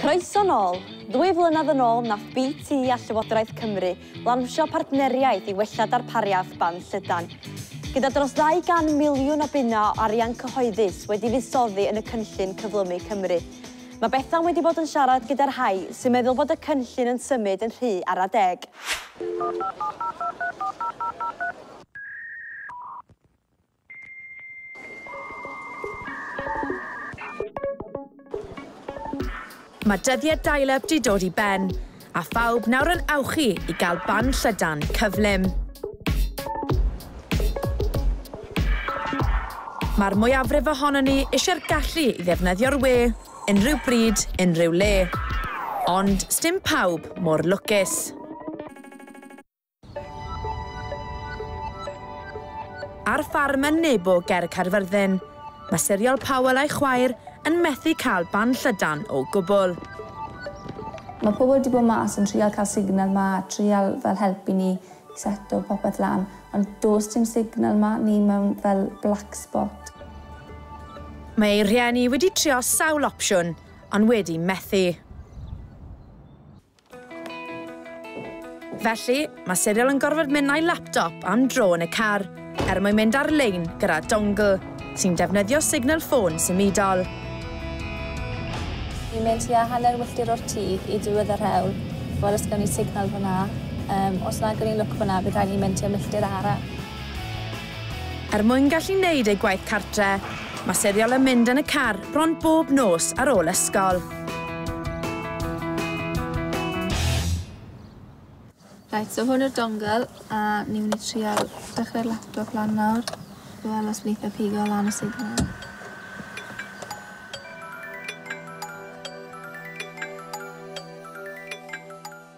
Croeso nôl. 2 flynedd yn ôl nath BT a Llywodraeth Cymru lansio partneriaeth i wella darpariaeth band llydan. Gyda dros 200 miliwn o bunna o arian cyhoeddus wedi fuddsoddi yn y cynllun Cyflymu Cymru. Mae Bethan wedi bod yn siarad gyda'r rhai sy'n meddwl bod y cynllun yn symud yn rhy ara deg. Mae dyddiau dial-up 'di dod i ben, a phawb nawr yn awchu i gael band llydan cyflym. Mae'r mwyafrif ohonon ni eisiau'r gallu i ddefnyddio'r we, unrhyw bryd, unrhyw le. Ond sdim pawb mor lwcus. Ar ffarm yn Nebo ger Caerfyrddin, mae Siriol Powell a'i chwaer yn methu cael band llydan o gwbl. Mae pobl wedi bod mas yn trial cael signal ma, trial fel helpu ni i seto popeth lan, ond does dim signal ma, ni mewn fel black spot. Mae ei rhieni wedi trio sawl opsiwn, ond wedi methu. Felly, mae Siriol yn gorfod mynd â'i laptop am dro yn y car, er mwyn mynd ar-lein gyda dongle, sy'n defnyddio signal ffôn symudol. Ni'n mynd tua hanner wylltir o'r tŷ i diwedd yr hewl, fel os gawn ni signal fyna. Os na gawn ni lwc fyna, bydd rhaid ni mynd tua milltir arall. Er mwyn gallu wneud ei gwaith cartre, mae Siriol yn mynd yn y car bron bob nos ar ôl ysgol. Right, so hwn yw'r dongle, a ni'n mynd i trial dechrau'r laptop lan nawr. Wel, os wneith e pigo lan y signal.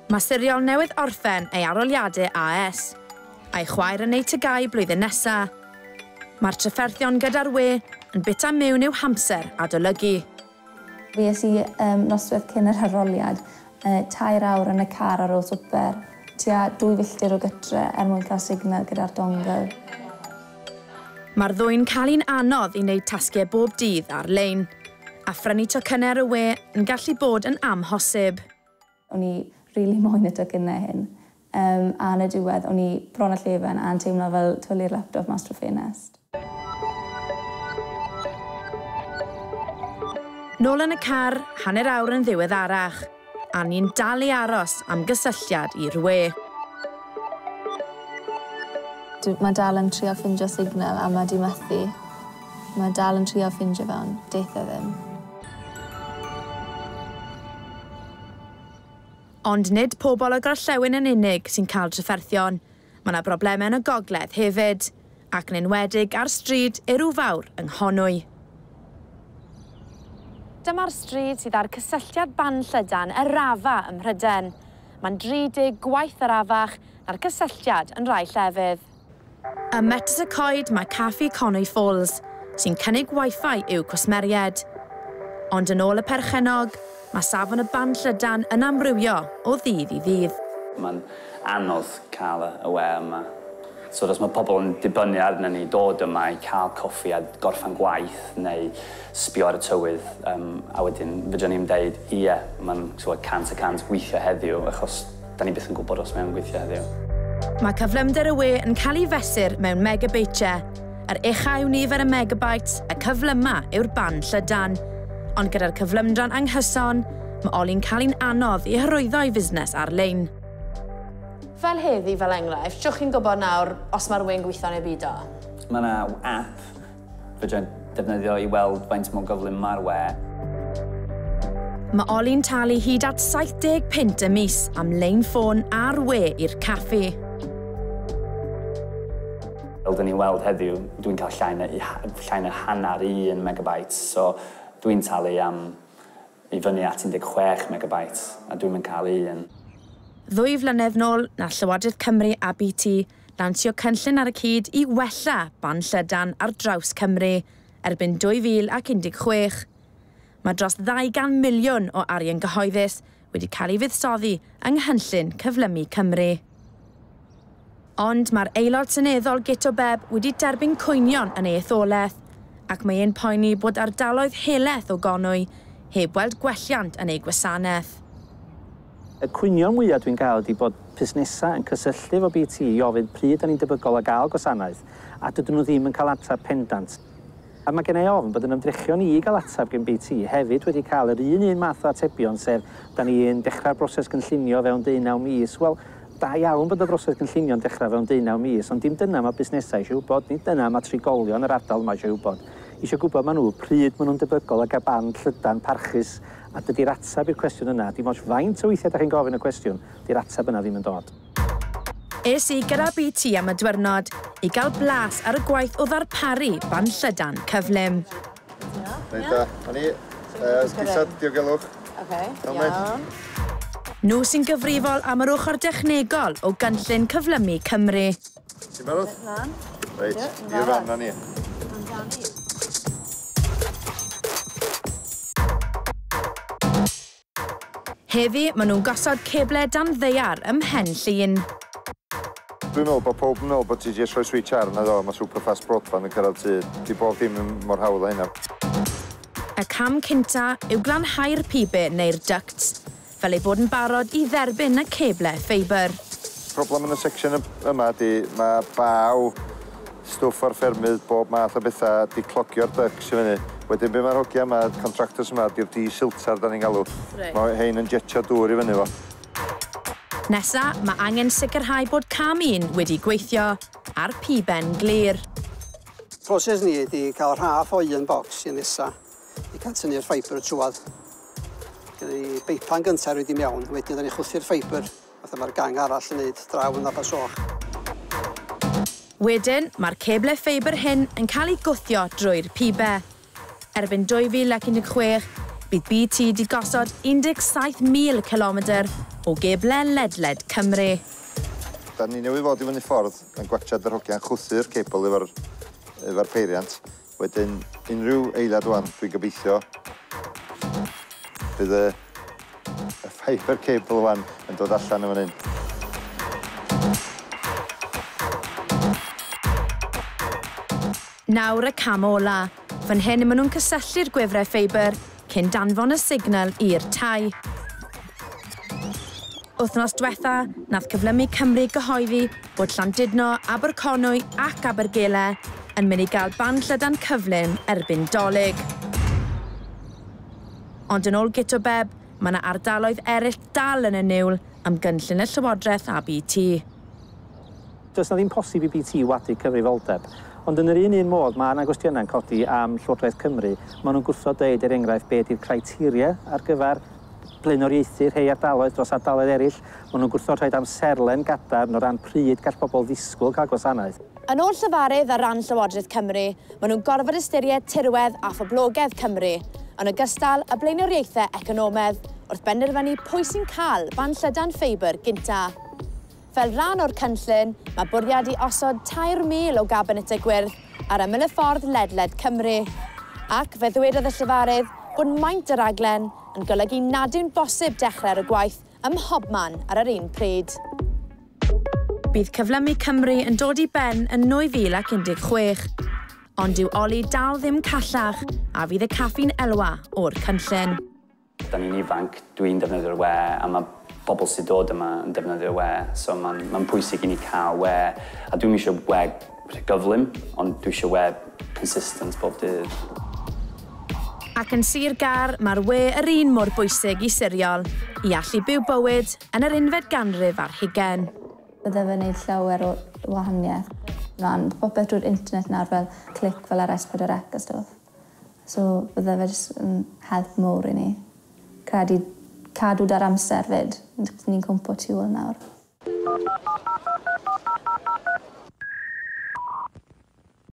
Mae Siriol newydd orffen ei arholiadau AS, a'i chwaer yn ei TGAU blwyddyn nesa. Mae'r trafferthion gyda'r we yn bita mewn i'w hamser adolygu. Fues i noswaith cyn yr arholiad, 3 awr yn y car ar ôl swper, tua 2 filltir o gytre er mwyn cael signal gyda'r dongle. Mae'r ddwy'n cael un anodd i wneud tasgau bob dydd ar-lein, a phrynu tocynnau ar y we yn gallu bod yn amhosib. O'n i rili moyn y tocynnau hyn, a yn y diwedd o'n i bron â llefen a'n teimlo fel twli'r laptop mas trwy ffenest. Nôl yn y car, hanner awr yn ddiweddarach, a ni'n dal i aros am gysylltiad i'r we. Mae dal yn trio ffindio signal a mae di methu. Mae dal yn trio ffindio fe, ond deith e ddim. Ond nid pobl o Gorllewin yn unig sy'n cael trafferthion. Mae yna broblemau yn y gogledd hefyd, ac yn enwedig ar stryd Erw Fawr yng Nghonwy. Dyma'r stryd sydd â'r cysylltiad band llydan y rafa ym Mhrydain. Mae'n 30 gwaith yr afach na'r cysylltiad yn rai llefydd. Ym Metws y Coed mae Caffi Conwy Falls, sy'n cynnig Wi-Fi i'w cwsmeriaid. Ond yn ôl y perchennog, mae safon y band llydan yn amrywio o ddydd i ddydd. Mae'n anodd cael y we yma. So os mae pobl yn dibynnu arno ni dod yma i cael coffi a gorffan gwaith neu sbio ar y tywydd, a wedyn fedrwn ni'm deud, ie, mae'n 100% gweithio heddiw, achos da ni byth yn gwybod os mae'n gweithio heddiw. Mae cyflymder y we yn cael ei fesur mewn megabytiau. Yr ucha yw nifer y megabytes, y cyflyma yw'r band llydan. Ond gyda'r cyflymdra'n anghyson, mae Oli'n cael un anodd i hyrwyddo ei fusnes ar-lein. Fel heddi, fel enghraifft, trwch chi'n gwybod nawr os mae'r we'n gweithio neu beidio? Mae yna app fedra i defnyddio i weld faint mor gyflym mae'r we. Mae Oli'n talu hyd at 70 punt y mis am lein ffôn a'r we i'r caffi. Fel dyn ni'n weld heddiw, dwi'n cael llai na hanner 1 megabyte, so dwi'n talu am i fyny at 16 megabyte, a dwi'n mynd cael un. 2 flynedd nôl, nath Llywodraeth Cymru a BT lansio cynllun ar y cyd i wella band llydan ar draws Cymru erbyn 2016. Mae dros 200 miliwn o arian gyhoeddus wedi cael ei fuddsoddi yng nghynllun Cyflymu Cymru. Ond mae'r aelod seneddol Guto Bebb wedi derbyn cwynion yn ei etholaeth, ac mae e'n poeni bod ardaloedd helaeth o Gonwy heb weld gwelliant yn eu gwasanaeth. Y cwynion mwyaf dwi'n gael ydy bod busnesau yn cysylltu efo BT i ofyn pryd da ni'n debygol o gael gwasanaeth, a dydyn nhw ddim yn cael ateb pendant. A mae gen i ofn bod yn ymdrechion i gael ateb gen BT hefyd wedi cael yr un un math o atebion, sef da ni'n dechrau'r broses gynllunio fewn 19 mis. Wel, da iawn bod y broses gynllunio'n dechrau fewn 19 mis, ond dim dyna mae busnesau eisiau wybod, nid dyna mae trigolion yr ardal yma eisiau wybod. Eisiau gwybod maen nhw pryd maen nhw'n debygol o gael band llydan parchus, a dydy'r ateb i'r cwestiwn yna, dim ots faint o weithiau da chi'n gofyn y cwestiwn, dy'r ateb yna ddim yn dod. Es i gyda BT am y diwrnod i gael blas ar y gwaith o ddarparu band llydan cyflym. Reit da, a ni, dillad diogelwch. Oce, iawn. Nhw sy'n gyfrifol am yr ochr dechnegol o gynllun Cyflymu Cymru. Ti'n barod? Reit, i'r fan na ni. Heddi, maen nhw'n gosod ceble dan ddaear ym Mhen Llŷn. Dwi'n meddwl bod pawb yn meddwl bod ti jyst rhoi switch ar na ddo, mae super fast broadband yn cyrraedd tŷ. Di bob dim yn mor hawdd â hynna. Y cam cynta yw glanhau'r pibe neu'r ducts, fel ei bod yn barod i dderbyn y ceble ffeibr. Problem yn y section yma ydy mae baw, stwff o'r ffermydd, bob math o bethau, di clogio'r ducts i fyny. Wedyn be mae'r hogia yma, contractors yma, di'r desilter da ni'n galw. Reit. Mae hein yn jetio dŵr i fyny fo. Nesa, mae angen sicrhau bod cam un wedi gweithio a'r piben glir. Proses ni ydy cael rhaff o un bocs i nesa i cael tynnu'r ffeibr trwad. Gyda ni beipan gyntaf roed i mewn, wedyn da ni chwythu'r ffeibr, fatha mae'r gang arall yn neud draw yn Abersoch. Wedyn, mae'r ceble ffeibr hyn yn cael ei gwthio drwy'r pibe. Erbyn 2016, bydd BT wedi gosod 17,000 kilometr o geble ledled Cymru. Da ni newydd fod i fyny ffordd yn gwatsiad yr hogiau'n chwythu'r cebl efo'r peiriant. Wedyn, unrhyw eiliad wan, dwi'n gobeithio, bydd y fibre cable wan yn dod allan yn fan hyn. Nawr y cam ola. Fan hyn maen nhw'n cysylltu'r gwifrau ffeibr cyn danfon y signal i'r tai. Wythnos diwetha, nath Cyflymu Cymru gyhoeddi bod Llandudno, Aberconwy ac Abergele yn mynd i gael band llydan cyflym erbyn Dolig. Ond yn ôl Guto Bebb, mae yna ardaloedd eraill dal yn y niwl am gynllun y Llywodraeth a BT. Does na ddim posib i BT wadu cyfrifoldeb. Ond yn yr un un modd, mae yna gwestiynau'n codi am Llywodraeth Cymru. Maen nhw'n gwrthod deud, er enghraifft, be ydy'r criteria ar gyfer blaenoriaethu rhai ardaloedd dros ardaloedd eraill. Maen nhw'n gwrthod rhaid amserlen gadarn o ran pryd gall pobl ddisgwyl cael gwasanaeth. Yn ôl llefarydd ar ran Llywodraeth Cymru, maen nhw'n gorfod ystyried tirwedd a phoblogedd Cymru, yn ogystal â blaenoriaethau economaidd wrth benderfynu pwy sy'n cael band llydan ffeibr gynta. Fel rhan o'r cynllun, mae bwriad i osod 3,000 o gabinetau gwyrdd ar ymyl y ffordd ledled Cymru. Ac fe ddwedodd y llefarydd bod maint y raglen yn golygu nad yw'n bosib dechrau ar y gwaith ym mhobman ar yr un pryd. Bydd Cyflymu Cymru yn dod i ben yn 2016. Ond dyw Oli dal ddim callach a fydd y caffi'n elwa o'r cynllun. Da ni'n ifanc, dwi'n defnyddio'r we, a mae bobl sy'n dod yma yn defnyddio'r we, so mae'n pwysig i ni cael we. A dwi'm eisiau we gyflym, ond dwi eisiau we consistent bob dydd. Ac yn Sir Gâr, mae'r we yr un mor bwysig i Siriol, i allu byw bywyd yn yr unfed ganrif ar hugain. Bydde fe'n gwneud llawer o wahaniaeth. Mae'n popeth drwy'r internet nawr fel clic fel ar S4C a stwff. So bydde fe jyst yn help mowr i ni. Credu cadw da'r amser fyd. Ni'n cwmpo tu ôl nawr.